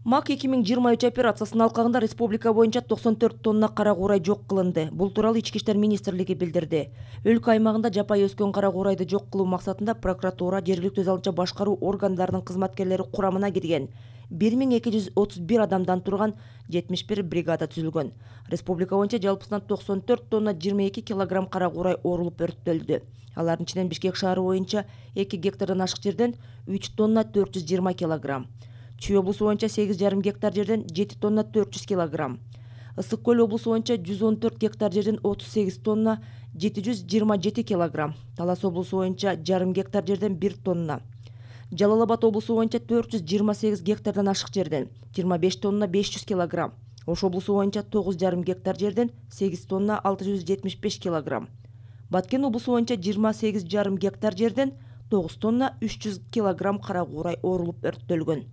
МАК 2023 операциясынын алкагында республика боюнча 94 тонна кара куурай жок кылынды. Бул тууралуу Ички иштер министрлиги билдирди. Өлкө аймагында жапайы өскөн кара куурайды жок кылуу максатында прокуратура, жергиликтүү өз алынча башкаруу органдарынын кызматкерлери курамына кирген 1231 адамдан турган 71 бригада түзүлгөн. Республика боюнча жалпысынан 94 тонна 22 килограмм кара куурай орулуп өрттөлдү. Алардын ичинен Бишкек шаары боюнча 2 гектардан ашык жерден 3 тонна 420 килограмм. Чүй облусу боюнча 8,5 гектар жерден 7 тонна 400 килограмм. Ысык көл облусу боюнча 114 гектар жерден 38 тонна 727 килограмм. Талас облусу боюнча жарым гектар жерден 1 тонна. Жалал Абад облусу боюнча 428 гектардан ашык жерден 25 тонна 500 килограмм. Ош облусу боюнча 9,5 гектар жерден 8 тонна 675 килограмм. Баткен облусу боюнча 28,5 гектар жерден 9 тонна 300 килограмм кара куурай орулуп өрттөлгөн.